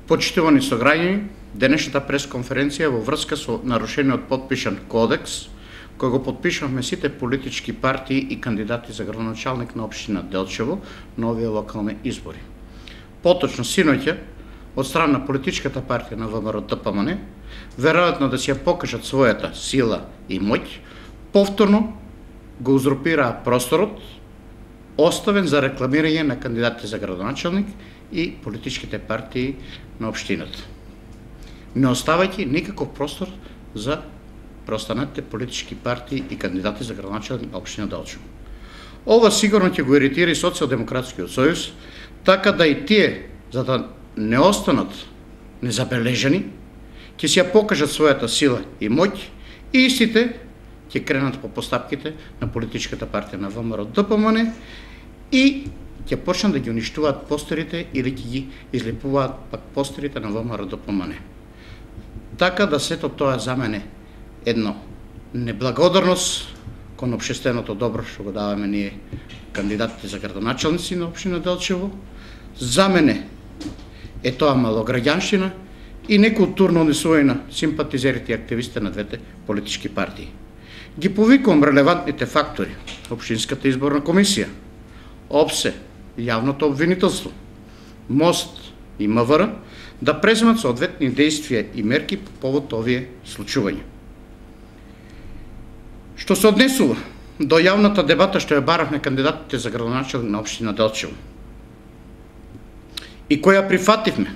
Почитувани сограѓани, денешната пресконференција во врска со нарушениот подпишан кодекс, кој го подпишавме сите политички партии и кандидати за градоначалник на општина Делчево на овие локални избори. Поточно синоќа, од страна на политичката партија на ВМРО-ДПМН, веројатно да си ја покажат својата сила и моќ, повторно го узурпираа просторот, оставен за рекламирање на кандидатите за градоначалник и политичките партии на општината, не оставајќи никаков простор за преостанатите политички партии и кандидати за градоначалник на општина Делчево. Ова сигурно ќе го иритира и Социјалдемократскиот сојуз, така да и тие, за да не останат незабележани, ќе си ја покажат својата сила и моќ и истите ќе кренат по постапките на политичката партија на ВМРО-ДПМН и ќе почнат да ги уништуваат постерите или ќе ги излепуваат пак постерите на ВМРО-ДПМН. Така да сето тоа за мене едно неблагодарност кон општественото добро што го даваме ние кандидатите за градоначалници на општина Делчево. За мене е тоа малограѓанщина и некултурно однесување на симпатизерите и активистите на двете политички партии. Ги повикувам релевантните фактори, Општинската изборна комисија, ОПСЕ, јавното обвинителство, МОСТ и МВР да преземат соодветни действија и мерки по повод овие случувања. Што се однесува до јавната дебата што ја баравме кандидатите за градоначалник на општина Делчево и која прифативме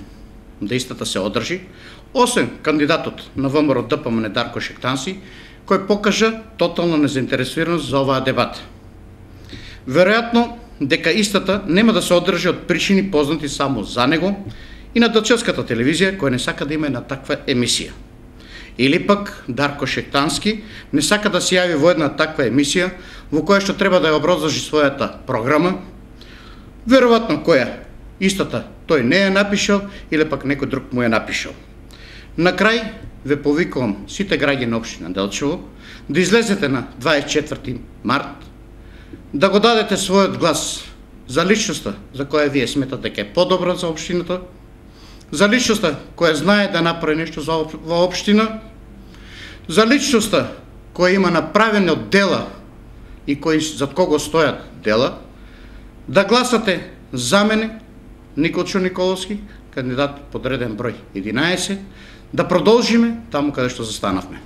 да истата се одржи, освен кандидатот на ВМРО-ДПМН Дарко Шектански, кој покажа тотална незаинтересираност за оваа дебата. Веројатно дека истата нема да се одржи од причини познати само за него и на Делчевската телевизија, која не сака да има една таква емисија. Или пак Дарко Шектански не сака да се јави во една таква емисија во која што треба да ја образложи својата програма, веројатно која истата тој не ја напишал или пак некој друг му ја напишал. На крај ве повикувам сите граѓани на општина Делчево да излезете на 24 март, да го дадете својот глас за личноста за која вие сметате дека е подобра за општината, за личноста која знае да направи нешто за општина, за личноста која има направени од дела и кои зад кого стојат дела, да гласате за мене, Николчо Николовски, кандидат под реден број 11, да продолжиме таму каде што застанавме.